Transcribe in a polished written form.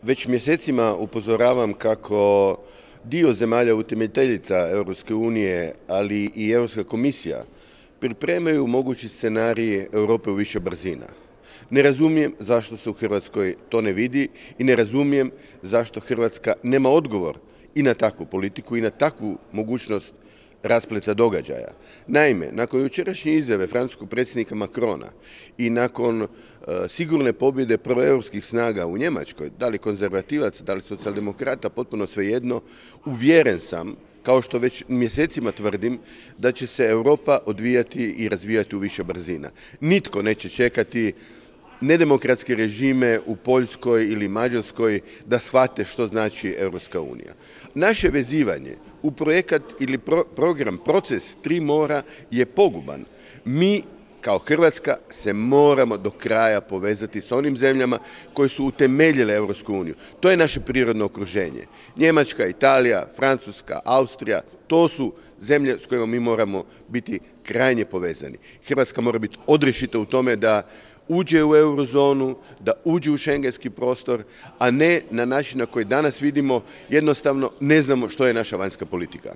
Već mjesecima upozoravam kako dio zemalja utemeljiteljica Europske unije, ali i Europska komisija pripremaju mogući scenarij Europe u više brzina. Ne razumijem zašto se u Hrvatskoj to ne vidi i ne razumijem zašto Hrvatska nema odgovor i na takvu politiku i na takvu mogućnost raspleta događaja. Naime, nakon jučerašnje izjave francuskog predsjednika Macrona i nakon sigurne pobjede proeuropskih snaga u Njemačkoj, da li konzervativaca, da li socijaldemokrata, potpuno svejedno, uvjeren sam, kao što već mjesecima tvrdim, da će se Europa odvijati i razvijati u više brzina. Nitko neće čekati nedemokratske režime u Poljskoj ili Mađarskoj da shvate što znači Europska unija. Naše vezivanje u projekat ili program, proces Tri mora je poguban. Mi kao Hrvatska se moramo do kraja povezati s onim zemljama koje su utemeljile Europsku uniju. To je naše prirodno okruženje. Njemačka, Italija, Francuska, Austrija, to su zemlje s kojima mi moramo biti krajnje povezani. Hrvatska mora biti odrješita u tome da uđe u eurozonu, da uđe u šengenski prostor, a ne na način na koji danas vidimo, jednostavno ne znamo što je naša vanjska politika.